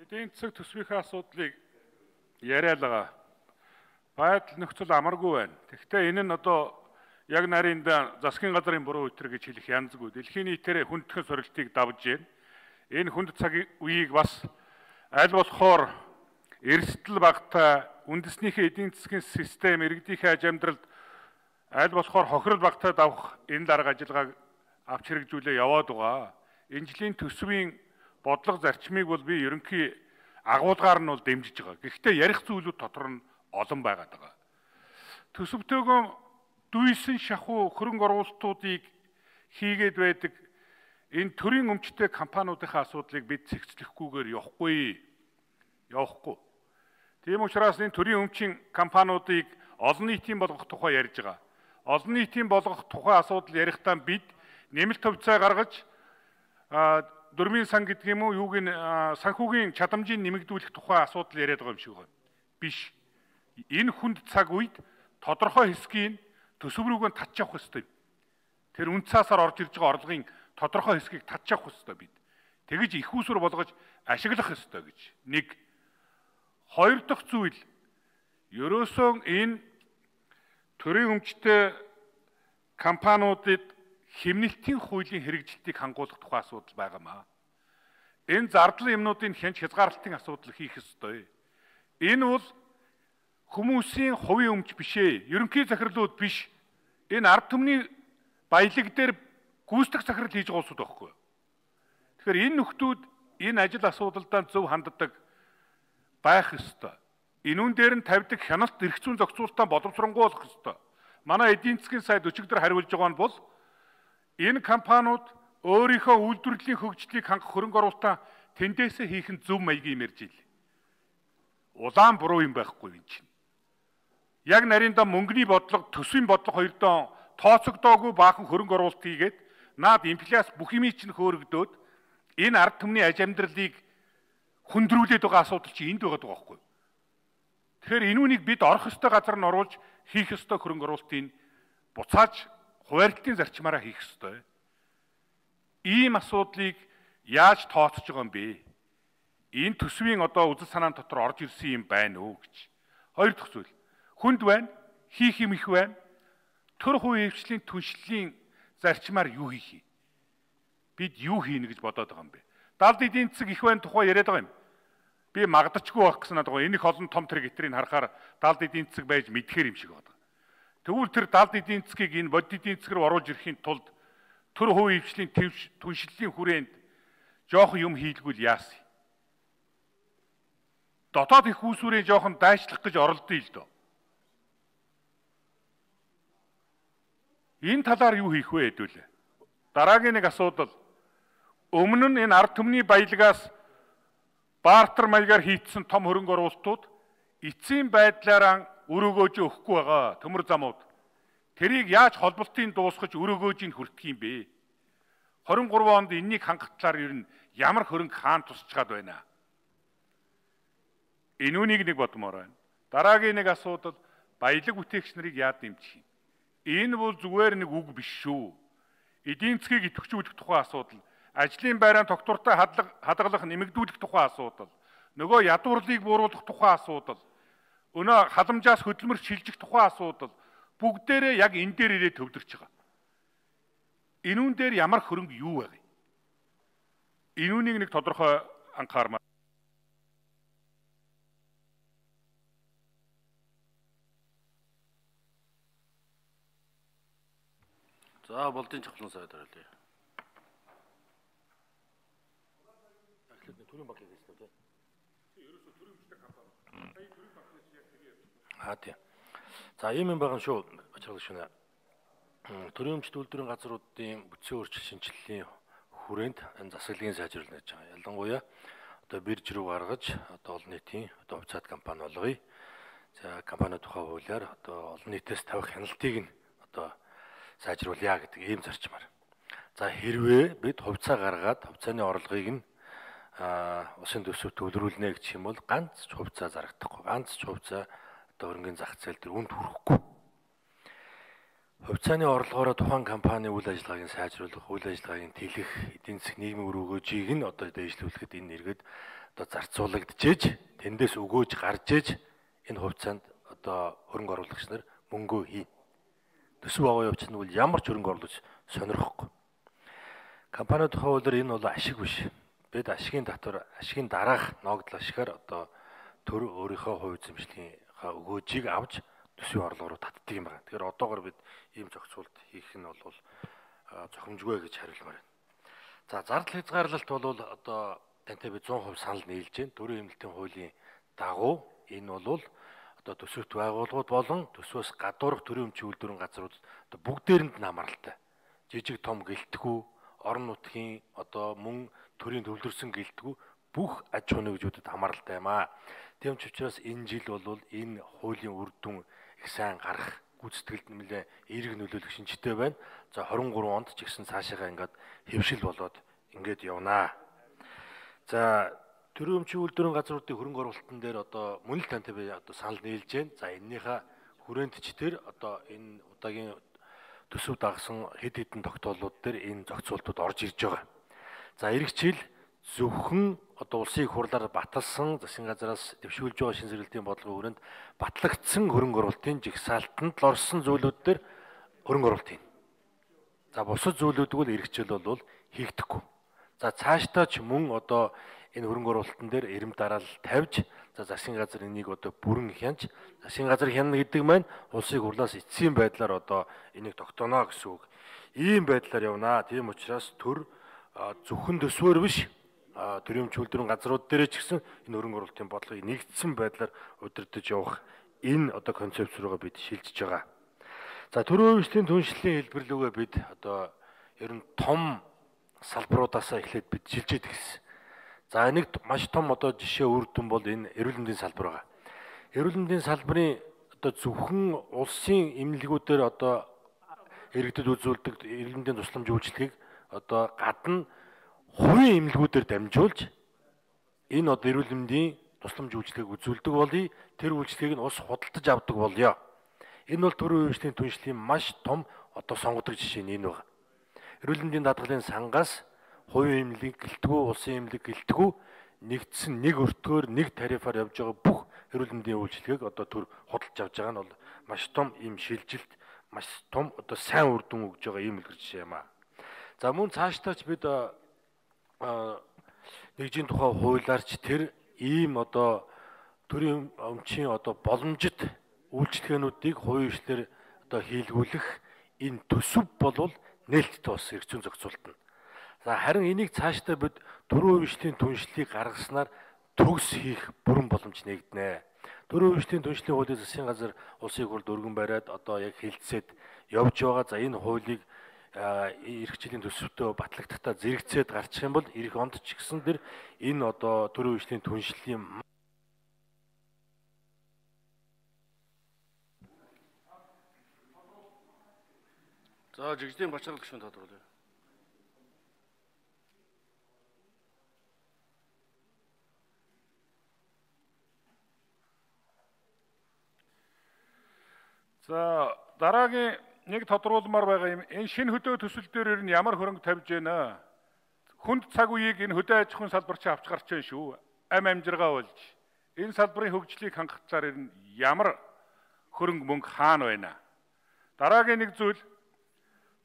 Эдийн засаг төсвийнхээ асуудлыг яриад байгаа. Байдал нөхцөл амаргүй байна. Тэгэхдээ энэ нь одоо яг нарийнда засгийн газрын буруу үтэр гэж хэлэх янзгүй. Дэлхийн нийтээр хүндхэн сорилтыг давж байна. Энэ хүнд цаг үеийг бас аль болохоор эрсдэл багтаа үндэснийхээ эдийн засгийн систем иргэдийнхээ аж амьдралд аль болохоор хохирол багтаа давах энэ дарга ажиллагааг авч хэрэгжүүлээ яваад байгаа. Энэ жилийн төсвийн бодлого зарчмыг бол би ерөнхий агуулгаар нь бол дэмжиж байгаа. Гэхдээ ярих зүйлүүд дотор нь олон байгаад байгаа. Төсөвтөөгөө дүйсэн шахуу хөрөнгө оруулалтуудыг хийгээд байдаг энэ төрийн өмчтэй компаниудынхаа асуудлыг бид цэгцлэхгүйгээр явахгүй. Тийм учраас энэ төрийн өмчийн компаниудыг олон нийтийн болгох тухай ярьж байгаа. Олон нийтийн болгох тухай асуудал ярихдаа бид нэмэлт хувьцаа гаргаж дөрмийн сан гэдэг юм уу юуг нь санхүүгийн чадамжийг нэмэгдүүлэх тухай асуудал яриад байгаа юм шиг байна. Биш. Энэ хүнд цаг үед тодорхой хэсгийг төсөв рүүгээ татж авах ёстой. Тэр үн цаасаар орж ирж байгаа орлогын тодорхой хэсгийг татж авах ёстой бид. Тэгэж их усүр болгож ашиглах ёстой гэж. Нэг. Хоёр дахь зүйл ерөөсөө энэ төрийн өмчтэй компаниудад хэмнэлтийн хуулийн хэрэгжилтийг хангуулах тухай асуудал байгаамаа. Энэ зардал юмнуудын хязгаарлалтын асуудал хийх ёстой. Энэ бол хүмүүсийн хувийн өмч биш ээ. Ерөнхий захирлууд биш. Энэ ард түмний баялаг дээр гүйцэтгэх захирал хийж байгаа улсууд байхгүй. Тэгэхээр энэ нөхдүүд энэ ажил асуудалдаа зөв ханддаг байх ёстой. Энүүн дээр нь тавьдаг хяналт эрх зүйн зохицуулалтаа боловсронгуй болох ёстой. Манай эдийн засгийн сайд өчигдөр хариулж байгаа нь бол энэ компаниуд өөрийнхөө үйлдвэрлэлийн хөгжлийг хангах хөрөнгө оруулалтаа тэндээсээ хийх нь зөв маягийн мэрж ил. Улаан буруу юм байхгүй юм чинь. Яг нарийнда мөнгөний бодлого, төсвийн бодлого хоёрдоо тооцогдоогүй баахан хөрөнгө оруулалт хийгээд наад инфляц бүх юмыг чинь хөөргдөөд энэ ард түмний аж амьдралыг хүндрүүлээд байгаа асуудал чинь энд байгаа байхгүй. Тэгэхээр энүүнийг бид орох ёстой газар нь оруулж хийх ёстой хөрөнгө оруулалтыг буцааж хуваарлтын зарчмаараа хийх ёстой. Ийм асуудлыг яаж тооцож байгаа юм бэ? Энэ төсвийн одоо үзэл санаан дотор орж ирсэн юм байна уу гэж. Хоёр дахь зүйл. Хүнд байна, хийх юм их байна. Төр хувийн хвшлийн түншлэлийн зарчмаар юу хийх юм? Бид юу хийнэ гэж бодоод байгаа юм бэ? Далд эдийн засаг их байна тухай яриад байгаа юм. Би магдачгүй байх гэсэн надад энэ их олон том трагедрийг харахаар далд эдийн засаг байж мэдхээр юм шиг байна. Тэгвэл тэр далд эдийн засгийг энэ бодит эдийн засаг руу оруулж ирэхийн тулд төр хувийн хвшлийн түншлэлийн хүрээнд жоохон юм хийлгүүл яасан. Дотоод их усүрийн жоохон дайчлах гэж оролдъё л доо. Энэ талаар юу хийх вэ хэдүүлээ. Дараагийн нэг асуудал. Өмнө нь энэ ард түмний баялагаас бартер маягаар хийцсэн том хөрөнгө оруулалтууд эцсийн байдлаараа өрөөгөөж өгөхгүй байгаа төмөр замууд. Тэрийг яаж холболтын дуусгаж өрөөгөөжийг хүртэх юм бэ? 23 онд энэнийг хангах талаар ер нь ямар хөрөнгө хаан тусч гад байна? Энүүнийг нэг бодмоор байна. Дараагийн нэг асуудал баялаг бүтээгч нарыг яад дэмжих юм? Энэ бол зүгээр нэг үг биш шүү. Эдийн засгийг идэвхжүүлэх тухай асуудал, ажлын байраа тогтвортой хадгалах нэмэгдүүлэх тухай асуудал, нөгөө ядуурлыг бууруулах тухай асуудал, өнөө халамжаас хөдөлмөрч шилжих тухай асуудал бүгдээрээ яг энэ дээр ирээд төвлөрч байгаа. Энүүн дээр ямар хөрөнгө юу вэ? Энүүнийг нэг тодорхой анхаармаар. За болдын чухлын сайд оруулъя. Төрийн банк гэсэн үү? Ерөөсөө төрийн хүчтэй компани. Сая төрийн банкнаас яг тэгээд. Тийм. За ийм юм байгаа шүү. Бачрал шүнэ. Төрийн өмчт үйлдвэрийн газруудын бүтцийн өөрчлөлт шинжилгээний хүрээнд энэ засаглалын сайжруулалт гэж байгаа. Ялангуяа одоо бирж рүү гаргаж одоо олон нийтийн одоо хувьцаат компани болгоё. За компани тухай хуулиар одоо олон нийтээс тавих хяналтыг нь одоо сайжруулъя гэдэг ийм зарчмаар. За хэрвээ бид хувьцаа гаргаад хувьцааны орлогыг нь усын төсөвт төвлөрүүлнэ гэх юм бол ганц ч хувьцаа зарагдахгүй. Ганц ч хувьцаа одоо хөрөнгөний зах зээл дээр үнд хүрэхгүй. Хувьцааны орлогоороо тухайн компани үйл ажиллагааг нь сайжруулах, үйл ажиллагааг нь тэлэх, эдийн засгийн нийгмийн өрөөгөөжийг нь одоо дэвшлүүлэхэд энэ нэргээд одоо зарцуулагдчихэж тэндээс өгөөж гарч иж энэ хувьцаанд одоо хөрөнгө оруулагч нар мөнгөө хий. Төсөв аваа явуулчихна бол ямар ч хөрөнгө оруулагч сонирхгүй. Компани тухай хуулиар энэ бол ашиг биш. Бид ашигын татвар, ашигын дараах ногдол ашигаар одоо төр өөрийнхөө хувь эзэмшлийнхаа өгөөжийг авч төсвийн орлого руу татдаг юм байна. Тэгэхээр одоогоор бид ийм зохицуулт хийх нь бол зохимжгүй гэж хариулмаар байна. За зардал хязгаарлалт бол одоо тантай би 100% санал нийлж байна. Төрийн эмнэлтийн хуулийн дагуу энэ бол одоо төсөвт байгууллагууд болон төсвөөс гадуурх төрийн өмчийн үйлдвэрийн газрууд одоо бүгдээрэнд нь хамааралтай. Жижиг том гэлтгүү, орон нутгийн одоо мөн төрийн төвлөрсөн гэлтгүү бүх аж ахуйн нэгжүүдэд хамааралтай юм аа. Тийм ч учраас энэ жил бол энэ хуулийн үр дүн их сайн гарах гүйцэтгэлд нэмэлээ эерэг нөлөөлөх шинжтэй байна. За 23 онд ч гэсэн цаашаа ингээд хэвшил болоод ингээд явнаа. За төрийн өмчийн үйлдвэрийн газруудын хөрөнгө оруулалтын дээр одоо мөн л тантай би одоо санал нийлж байна. За эннийхээ хүрээндч тэр одоо энэ удаагийн төсөв дагсан хэд хэдэн тогтоолууд дээр энэ зохицуултууд орж ирж байгаа. За эх жил зөвхөн одоо улсын их хурлаар баталсан засгийн газраас дэвшүүлж байгаа шин зэрэглэлийн бодлогын хүрээнд батлагдсан хөрөнгө оруулалтын жигсаалтанд л орсон зүйлүүд дээр хөрөнгө оруулалт хийн. За бусад зүйлүүдг бол эх жил бол хийгдэхгүй. За цаашдаа ч мөн одоо энэ хөрөнгө оруулалтын дээр эрэм дараал тавьж за засгийн газар энийг одоо бүрэн хянж засгийн газар хянана гэдэг маань улсын хурлаас эцсийн байдлаар одоо энийг тогтооно гэсэн үг. Ийм байдлаар явнаа. Тийм учраас төр зөвхөн төсвөр биш төрийн өмчийн үйлдвэрийн газрууд дээр ч гэсэн энэ хөрөнгө оруулалтын бодлогыг нэгдсэн байдлаар удирдах явах энэ одоо концепц руугаа бид шилжиж байгаа. За төрийн өмчийн түншлэлийн хэлбэрлүүгээ бид одоо ер нь том салбаруудаас эхлээд бид шилжиж гисэн. За нэг маш том одоо жишээ үр дүн бол энэ эрүүл мэндийн салбар байгаа. Эрүүл мэндийн салбарын одоо зөвхөн улсын эмнэлгүүдээр одоо иргэдэд үзүүлдэг эрүүл мэндийн тусламж үйлчилгээг одоо гадна хувийн эмнэлгүүдээр дамжуулж энэ одоо эрүүл мэндийн тусламж үйлчилгээг үзүүлдэг болъё. Тэр үйлчилгээг нь улс худалдаж авдаг болъё. Энэ бол төрийн өмчийн түншлэлийн маш том одоо сонгодог жишээ нь энэ байна. Эрүүл мэндийн даатгалын сангаас хувийн эмнэлэг гэлтгүү, улсын эмнэлэг гэлтгүү нэгдсэн нэг өртгөөр нэг тарифаар явж байгаа бүх эрүүл мэндийн үйлчилгээг одоо төр худалдаж авч байгаа нь бол маш том ийм шилжилт, маш том одоо сайн үр дүн өгж байгаа ийм үлгэр жишээ юм аа. За мөн цаашдаач бид нэгжийн тухай хуулиарч тэр ийм одоо төрийн өмчийн одоо боломжит үйлчлэгээнүүдийг хувийн хвшлэр одоо хийлгүүлэх энэ төсөв болвол нээлттэй бас эрх зүйн зохицуултна. За харин энийг цаашдаа бид төрийн хвшлийн түншлэлийг гаргаснаар төгс хийх бүрэн боломж нэгдэнэ. Төрийн хвшлийн түншлэлийн хуулийг засгийн газар улсын их хурлд өргөн бариад одоо яг хэлэлцээд явж байгаа. За энэ хуулийг эх жилийн төсөвтөө батлагдахдаа зэрэгцээд гарчих юм бол эх онд ч гэсэн тэр энэ одоо төрийн хвшлийн түншлэлийн За жигжлийн бачаалал гишүүн тодорхойлъё. За дараагийн нэг тодруулмаар байгаа юм. Энэ шинэ хөдөө төсөл дээр нь ямар хөрөнгө тавьж байна? Хүнд цаг үеийг энэ хөдөө аж ахуйн салбарч авч гарч байна шүү. Амжиргаа болж. Энэ салбарын хөгжлийг хангах цаар нь ямар хөрөнгө мөнгө хаана байна? Дараагийн нэг зүйл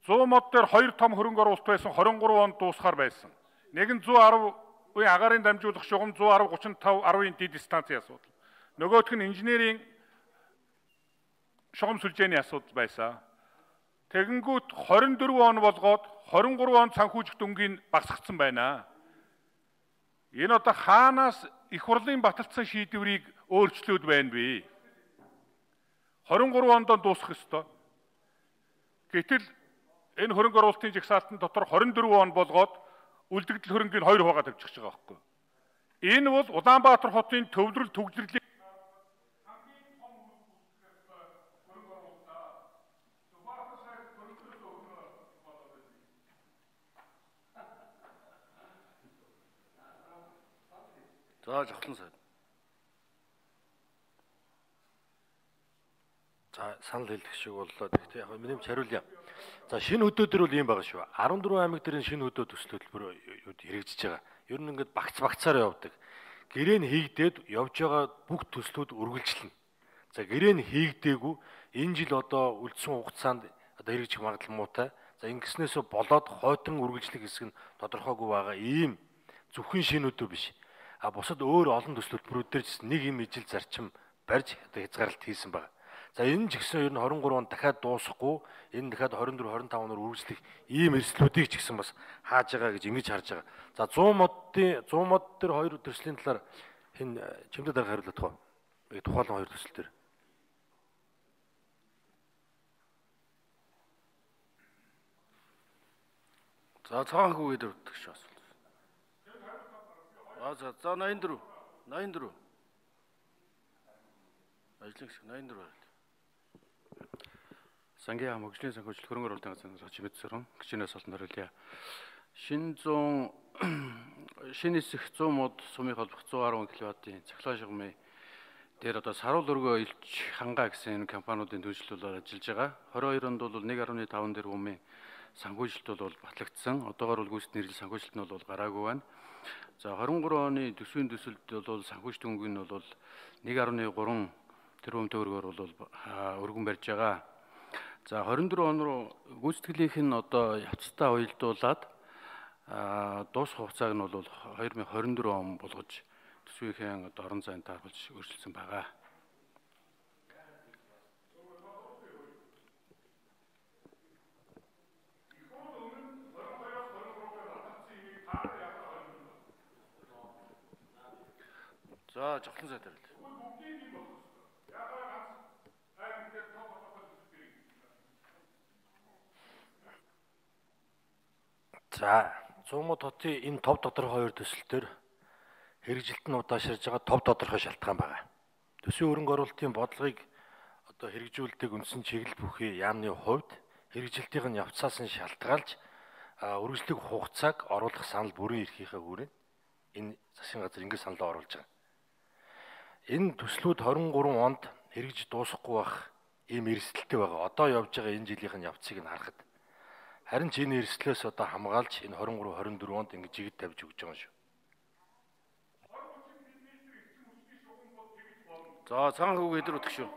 100 мод дээр 2 том хөрөнгө оруулалт байсан 23 онд дуусахаар байсан. Нэг нь 110-ийн агаарын дамжуулах шугам 110 35 10-ийн дид станцын асуудал. Нөгөөх нь инженерийн шугам сүлжээний асуудал байсан. Тэгэнгүүт 24 он болгоод 23 он санхүүжих дүнгийн багасгацсан байна. Энэ одоо хаанаас их хурлын баталсан шийдвэрийг өөрчлөөд байна вэ? 23 онд дуусах ёстой. Гэтэл энэ хөрөнгө оруулалтын жагсаалтын дотор 24 он болгоод үлдэгдэл хөрөнгийг 2 хувиар тавьчих байгаа байхгүй. Энэ бол Улаанбаатар хотын төвлөрөл түгжрэлийг За жавхлан сайд. За санал хэлэх шиг боллоо. Гэхдээ яг минь хариулъя. За шинэ хөдөө төр бол ийм байгаа шүү. 14 аймаг дээр шинэ хөдөө төсөл хөтөлбөр хэрэгжиж байгаа. Ер нь ингээд багцаар явдаг. гэрээ нь хийгдээд явж байгаа бүх төслүүд үргэлжлэнэ. За гэрээ нь хийгдээгүй энэ жил одоо үлдсэн хугацаанд одоо хэрэгжих магадлал муутай. За ингэснээс болоод хойтон үргэлжлэх хэсэг нь тодорхойгүй байгаа ийм зөвхөн шинүүдөө биш. А бусад өөр олон төсөл хөтөлбөрүүд дээр ч нэг юм ижил зарчим барьж одоо хязгаарлалт хийсэн байна. За энэ ч гэсэн ер нь 23 он дахиад дуусахгүй энэ дахиад 24 25 оноор үргэлжлэх ийм эрсдлүүдийг ч гэсэн бас хааж байгаа гэж ингэж харж байгаа. За 100 мод дээр хоёр төслийн талаар хэн чимдээ дарга хариулах тухай. Тухайлан хоёр төсөл дээр. За цаанхүү гэдэг утгач асуулт. За 84. Ажлын хэсэг 84 байна. Сангийн хөгжлийн санхүүжилт хөрөнгө оруулалтын газрын чимэд сөрөн гिचнээс олсон хариулъя. Шин хэсэг 100 мод сумын холбох 110 кВт-ийн цахилгаан шугамын дээр одоо саруул өргөө илж хангаа гэсэн компаниудын төлөвлөлөөр ажиллаж байгаа. 22 онд бол 1.5 тэрбумын санхүүжилт бол батлагдсан. Одоогоор бол гүйцэтгэх нэрлэл санхүүжилт нь бол гараагүй байна. За 23 оны төсвийн төсөлд бол санхүүжилт хөнгө нь бол 1.3 тэрбум төгрөгөөр бол өргөн барьж байгаа. За 24 он руу гүйцэтгэлийнх нь одоо явцдаа уялдуулаад дуусах хугацааг нь бол 2024 он болгож төсвийнхээ одоо орон зайд тааруулж өөрчилсөн байгаа. За жавхлан сайд хариулъя. За 100 мод хотын энэ тов тодорхой хоёр төсөл төр хэрэгжилт нь удаашрж байгаа тов тодорхой шалтгаан байна. Төсвийн хөрөнгө оруулалтын бодлогыг одоо хэрэгжүүлдэг үндсэн чиглэл бүхий яамны хувьд хэрэгжилтийн явцаас нь шалтгаалж үргэлжлэх хугацааг оруулах санал бүрийн эрхийнхээ хүрээнд энэ засгийн газар ингэ саналаа оруулж байгаа. Энэ төслүүд 23 онд хэрэгж дуусахгүй байх ийм эрсдэлтэй байгаа. Одоо явж байгаа энэ жилийнх нь явцыг нь харахад харин ч энэ эрсдлээс одоо хамгаалж энэ 23 24 онд ингэ жигд тавьж өгч байгаа шүү. За цаанхүү хэдэр утгах шүү.